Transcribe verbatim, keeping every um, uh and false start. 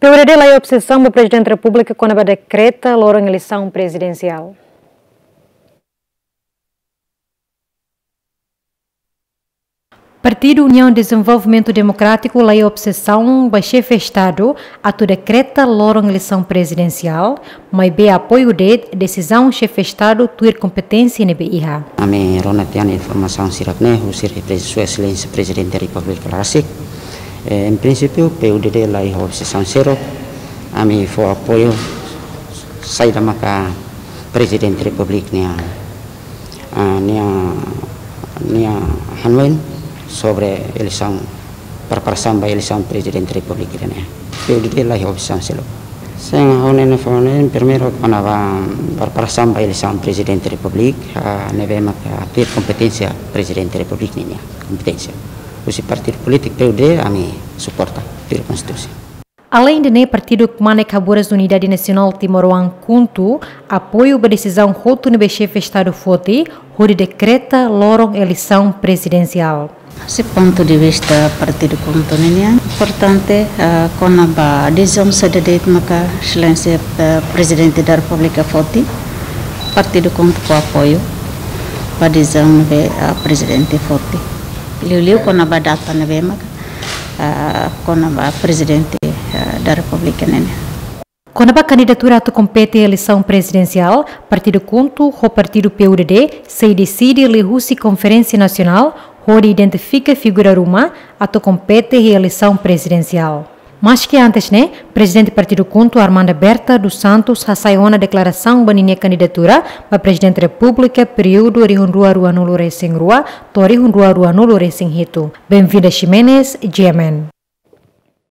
P U D D laiha obsesaun ba Prezidente Repúblika kona-ba dekreta loron eleisaun prezidensiál. Partidu Uniaun Dezenvolvimentu Demokrátiku laiha obsesaun ba Xefe Estadu atu dekreta loron eleisaun prezidensiál, maibé apoiu de'it desizaun Xefe Estadu tuir kompeténsia ne'ebé iha. Ami rona tiha ona informasaun sira-ne'e husi Repre-, Sua Exelénsia Prezidente Repúblika rasik. Eh, em princípio, P U D D laiha obsesaun seluk. Ami fó apoiu saida maka Prezidente Repúblika nia, ah, nia, nia hanoin sobre eleisaun, preparasaun ba eleisaun Prezidente Repúblika ida-ne'e. P U D D laiha obsesaun seluk. Sin, ha'u-nia informasaun primeiru kona-ba preparasaun ba eleisaun Prezidente Repúblika, ah, ne'ebé maka tuir kompeténsia Prezidente Repúblika ninia kompeténsia. Husi partidu polítiku P U D D ami suporta tuir konstituisaun. Aleinde ne'e, partidu kmanek haburas Unidade Nasionál Timoroan, KHUNTO, apoiu ba desizaun hotu ne'ebé Xefe Estadu foti hodi dekreta loron eleisaun prezidensiál. Husi pontu de vista partidu KHUNTO ninian, importante, ah, kona-ba desizaun saida de'it maka Exelénsia, ah, Prezidente da Repúblika foti, partidu KHUNTO fó apoiu ba desizaun ne'ebé, ah, Prezidente foti. Liuliu kona-ba data ne'ebé maka, ah, kona-ba Prezidente, ah, da Repúblika ninian. Kona-ba kandidatura atu kompete eleisaun prezidensiál, partidu KHUNTO ho partidu P U D D sei deside liuhusi Konferénsia Nasionál hodi identifika figura ruma atu kompete iha eleisaun prezidensiál. Maski antes ne'e, Prezidente Partidu KHUNTO Armanda Berta dos Santos hasai ona deklarasaun ba ninia kandidatura ba Prezidente Repúblika períodu rihun rua ruanulu resin rua to'o rihun rua ruanulu resin hitu. Benvinda Ximenes, G M N.